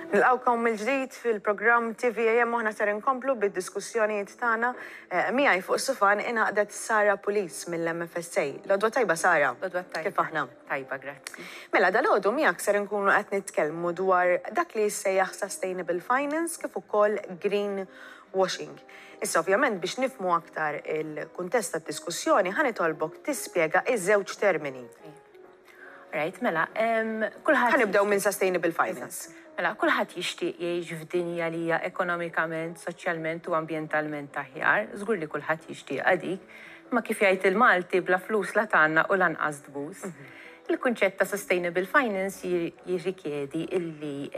Nilqgħukom mill-ġdid fil-programm TVAM u aħna ser inkomplu bid-diskussjonijiet tagħna. Miegħi fuq is-sufan ingħaqdet Sara Pulis mill-MFSA. L-għodwa tajba Sara. L-għodwa tajba. Kif aħna? Tajba, grazzi. Mela dalgħodu miegħek ser inkunu qed nitkellmu dwar dak li jissejjaħ sustainable finance kif ukoll green washing. Issa ovvjament biex nifhmu aktar il-kuntest tad-diskussjoni ħa nitolbok tispjega ż-żewġ termini. Right, mela, kulħadd. Ħa nibdew minn sustainable finance. Mela, kulħadd jixtieq jgħix f'dinja li hija ekonomikament, soċjalment u ambjentalment aħjar. Żgur li kulħadd jixtieqha dik. Imma kif jgħid il-Malti, bla flus la tgħannaq u lanqas tbus. Il-kunċett ta' sustainable finance jirrikjedi illi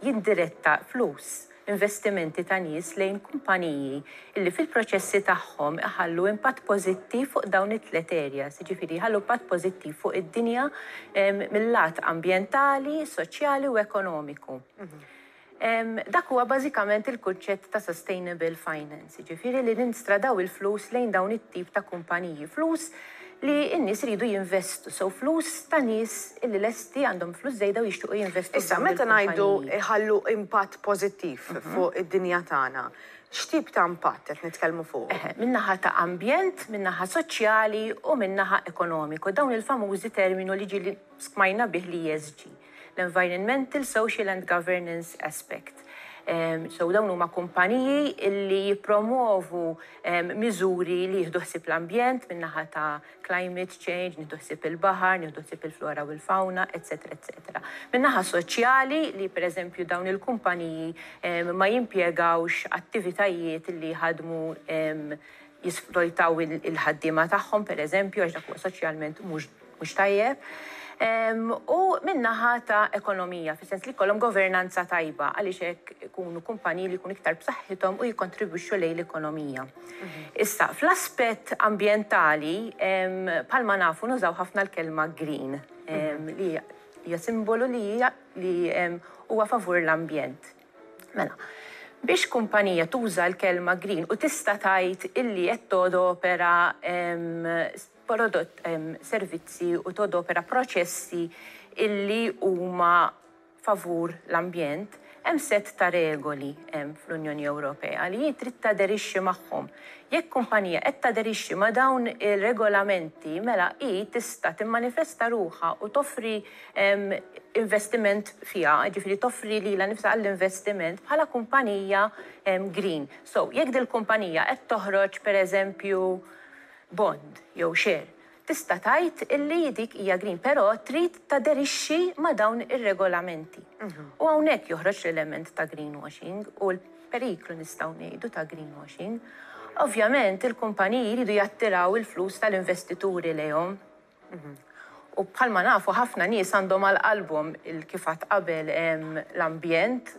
jindiretta flus investimenti ta' nies lejn kumpaniji li fil-proċessi tagħhom iħallu impatt pożittiv fuq dawn it-tliet areas, jiġifieri jħallu impatt pożittiv fuq id-dinja mil-lat ambjentali, soċjali u ekonomiku. Dak huwa bażikament il-kunċett ta' sustainable finance, jiġifieri li ninstradaw il-flus lejn dawn it-tip ta' kumpaniji, flus li n-nies iridu jinvestu, so flus ta' nies illi lesti għandhom flus żejda u jixtiequ jinvestu Issa, f'dawn meta ngħidu il-kumpaniji. jħallu impatt pożittiv fuq id-dinja tagħna, x'tip ta' impatt qed nitkellmu fuqu? Eħe, min-naħa ta' ambjent, min-naħa soċjali u min-naħa ekonomiku, dawn il-famużi terminu li ġieli smajna bih l-ESG, l-Environmental, Social and Governance Aspect. So dawn huma kumpaniji illi jippromovu miżuri li jieħdu ħsieb l-ambjent min-naħa ta' climate change, nieħdu ħsieb il-baħar, nieħdu ħsieb il-flora u l-fauna, eċċetera eċċetera. Min-naħa soċjali li pereżempju dawn il-kumpaniji ma jimpjegawx attivitajiet li jħaddmu jisfrojtaw il-ħaddiema tagħhom pereżempju għax dak huwa soċjalment mhux mhux tajjeb, u min-naħa ta' ekonomija, fis-sens li jkollhom governanza tajba għaliex hekk ikunu kumpaniji li jkunu iktar b'saħħithom u jikkontribwixxu lejn l-ekonomija. Issa, fl-aspett ambjentali, bħalma nafu nużaw ħafna l-kelma green, li hija simbolu li hija li huwa favur l-ambjent. Mela, biex kumpanija tuża l-kelma green u tista' tgħid illi qed todopera prodott, servizzi u todopera proċessi illi huma favur l-ambjent, hemm sett ta' regoli fl-Unjoni Ewropea li hi trid taderixxi magħhom. Jekk kumpanija qed taderixxi ma' dawn ir-regolamenti mela hi tista' timmanifesta ruħha u toffri investiment fiha, jiġifieri toffri lilha nnifisha għall-investiment bħala kumpanija green. So, jekk dil-kumpanija qed toħroġ pereżempju bond jew share, tista' tgħid illi dik hija green, però trid taderixxi ma' dawn ir-regolamenti. U hawnhekk joħroġ l-element ta' greenwashing u l-periklu nistgħu ngħidu ta' greenwashing. Ovvjament il-kumpaniji jridu jattiraw il-flus tal-investituri lejhom. U bħalma nafu ħafna nies għandhom għal qalbhom kif għadt qabel l-ambjent.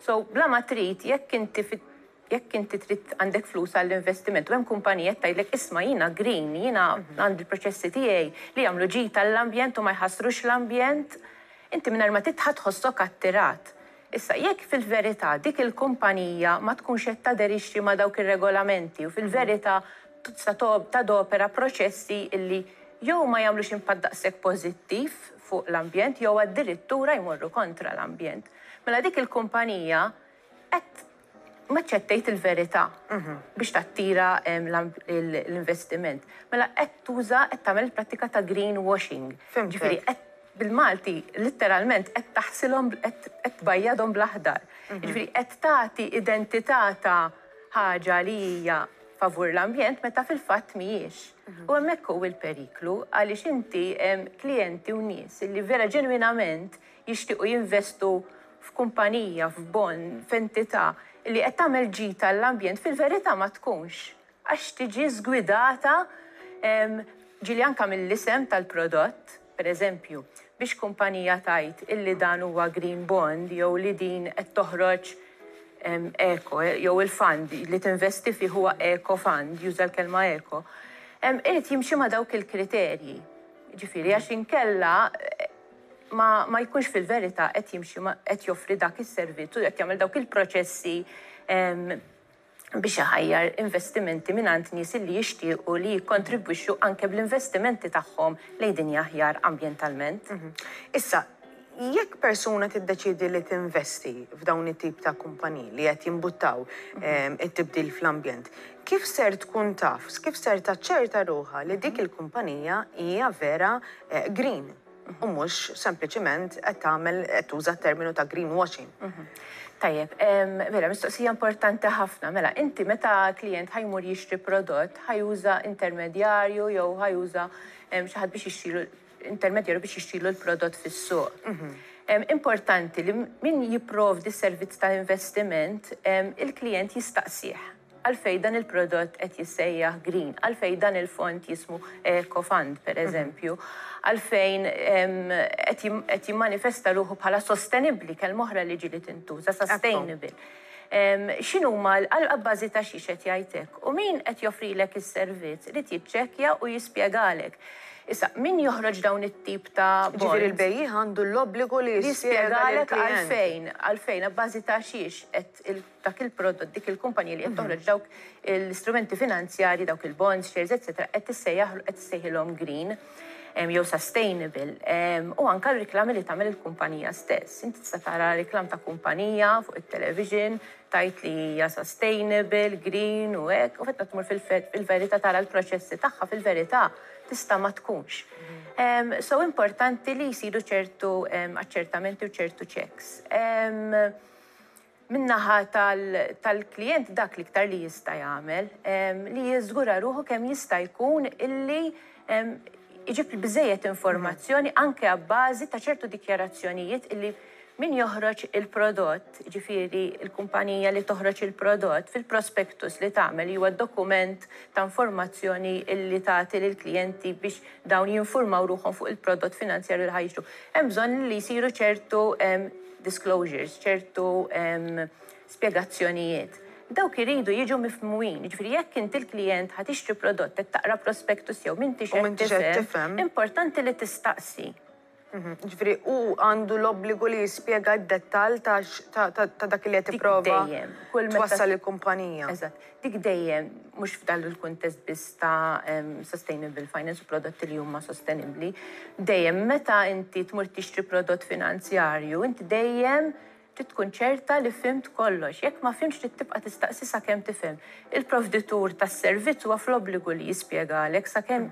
So bla ma trid jekk inti Jekk inti trid għandek flus għall-investiment u hemm kumpanija qed tgħidlek isma' jiena green, jiena għandi l-proċessi tiegħi li jagħmlu ġid għall-ambjent u ma jħassrux l-ambjent, inti mingħajr ma trid ħa tħossok attirat. Issa, jekk fil-verità dik il-kumpanija ma tkunx qed taderixxi ma' dawk ir-regolamenti u fil-verità tista' tadopera proċessi illi jew ma jagħmlux impatt daqshekk pożittiv fuq l-ambjent jew addirittura jmorru kontra l-ambjent, mela dik il-kumpanija qed ma ċettejt il-verità biex tattira l-investiment. Mela qed tuża qed tagħmel il-prattika ta' greenwashing. Ġifieri qed bil-Malti litteralment qed taħsilhom qed tbajjadhom bl-aħdar. Ġifieri qed tagħti identità ta' ħaġa li hija favur l-ambjent meta fil-fatt mhijiex. U hemmhekk hu l-periklu għaliex inti klijenti u nies li vera ġenwinament jixtiequ jinvestu f'kumpanija, f'bond, f'entità li qed tagħmel ġid għall-ambjent fil-verità ma tkunx għax tiġi żgwidata ġieli anke mill-isem tal-prodott. Per eżempju, biex kumpanija tgħid illi dan huwa green bond jew li din qed toħroġ eco jew il-fund li tinvesti fih huwa eco fund, juża l-kelma eco, irid jimxi ma' dawk il-kriterji. Jiġifieri għax inkella ma ma jkunx fil-verità qed jimxi ma qed joffri dak is-servizz u qed jagħmel dawk il-proċessi biex iħajjar investimenti mingħand nies illi jixtiequ li jikkontribwixxu anke bl-investimenti tagħhom lejn dinja aħjar ambjentalment. Issa, Jekk persuna tiddeċiedi li tinvesti f'dawn it-tip ta' kumpaniji li qed jimbuttaw it-tibdil fl-ambjent, kif ser tkun taf, kif ser taċċerta ruħha li dik il-kumpanija hija vera green u mhux sempliċiment qed tagħmel qed tuża t-terminu ta' greenwashing? Tajjeb, mela mistoqsija importanti ħafna. Mela, inti meta klijent ħa jmur jixtri prodott, ħa juża intermedjarju jew ħa juża xi ħadd biex jixtrilu intermedjarju biex jixtrilu l-prodott fis-suq. Importanti li min jipprovdi s-servizz ta' investiment, il-klijent jistaqsih għalfejn dan il-prodott qed jissejjaħ green, għalfejn dan il-fond jismu Eco Fund, per eżempju, għalfejn qed jimmanifesta ruħu bħala sostenibbli, kelma oħra li ġieli tintuża, sustainable. X'inhuma għal bażi ta' xiex qed jgħid hekk u min qed joffrilek is-servizz irid jiċċekkja u jispjegalek. Issa, min joħroġ dawn it-tip ta' Ġifieri l-bejjiegħ għandu l-obbligu li jispjega lill-klijent. Għalfejn, għalfejn, abbażi ta' xiex qed dak il-prodott, dik il-kumpanija li qed toħroġ dawk l-istrumenti finanzjarji, dawk il-bonds, shares, eċċetera, qed tissejjaħ qed tissejħilhom green jew sustainable. U anke r-riklami li tagħmel il-kumpanija stess. Inti tista' tara riklam ta' kumpanija fuq it-television tgħid li hija sustainable, green u hekk, u meta tmur fil-verità tara l-proċessi tagħha fil-verità tista' ma tkunx. So importanti li jsiru ċertu aċċertamenti u ċertu checks. Min-naħa tal-klijent dak l-iktar li jista' jagħmel li jiżgura ruħu kemm jista' jkun illi iġib biżejjed informazzjoni anke abbażi ta' ċertu dikjarazzjonijiet illi min joħroġ il-prodott, ġifieri il-kumpanija li toħroġ il-prodott fil-prospectus li tagħmel huwa dokument ta' informazzjoni illi tagħti lill-klijenti biex dawn jinformaw ruħhom fuq il-prodott finanzjarju li ħa jixtru. Hemm bżonn li jsiru ċertu disclosures, ċertu spjegazzjonijiet. Dawk iridu jiġu mifhmumin, ġifieri jekk inti l-klijent ħa tixtri prodott qed taqra prospectus jew m'intix qed tifhem, importanti li tistaqsi. Ġifieri hu għandu l-obbligu li jispjega d-dettall ta' dak li qed tipprova twassal il-kumpanija. Eżatt. Dik dejjem, mhux f'dan il-kuntest biss ta' sustainable finance u prodotti li huma sostenibbli, dejjem meta inti tmur tixtri prodott finanzjarju, inti dejjem trid tkun ċerta li fhimt kollox. Jekk ma fhimtx trid tibqa' tistaqsi sakemm tifhem. Il-provditur tas-servizz huwa fl-obbligu li jispjegalek sakemm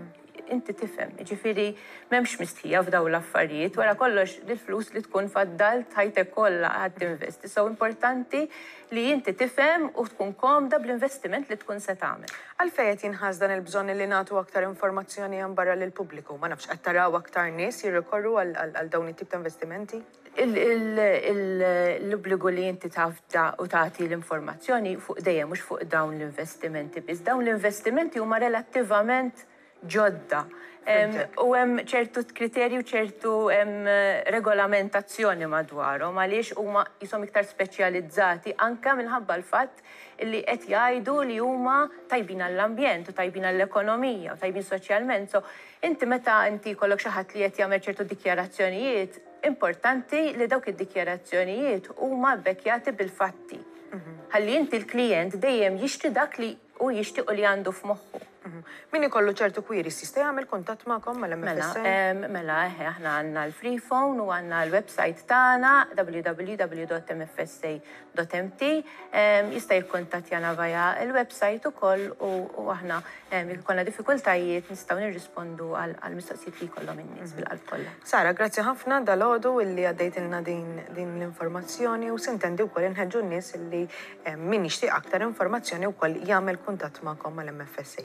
inti tifhem. Ġifieri m'hemmx mistħija f'dawn l-affarijiet, wara kollox il-flus li tkun faddalt ħajtek kollha ħa tinvesti. So importanti li inti tifhem u tkun komda bl-investiment li tkun se tagħmel. Għalfejn qed jinħass dan il-bżonn li nagħtu aktar informazzjoni hemm barra lill-pubbliku? Ma nafx qed taraw aktar nies jirrikorru għal dawn it-tip ta' investimenti? L-obbligu li inti tafda u tagħti l-informazzjoni fuq dejjem mhux fuq dawn l-investimenti biss. Dawn l-investimenti huma relattivament ġodda. U hemm ċertu kriterji u ċertu regolamentazzjoni madwarhom għaliex huma jisom iktar speċjalizzati anke minħabba l-fatt li qed jgħidu li huma tajbin għall-ambjent u tajbin għall-ekonomija u tajbin soċjalment. So inti meta inti jkollok xi ħadd li qed jagħmel ċertu dikjarazzjonijiet, importanti li dawk id-dikjarazzjonijiet huma bbekkjati bil-fatti. Ħalli inti l-klijent dejjem jixtri dak li u jixtiequ li għandu f'moħħu. Min ikollu ċertu queries jista' jagħmel kuntatt magħkom mal-MFSA? Mela, eħe, aħna għandna l-free phone u għandna l-website tagħna www.mfsa.mt. Jista' jikkuntattjana via il-website ukoll u aħna jekk ikollna diffikultajiet nistgħu nirrispondu għal mistoqsijiet li jkollhom in-nies bil-qalb kollha. Sara, grazzi ħafna dalgħodu illi għaddejtilna din l-informazzjoni u sintendi wkoll inħeġġu n-nies illi min jixtieq aktar informazzjoni wkoll jagħmel kuntatt magħkom mal-MFSA.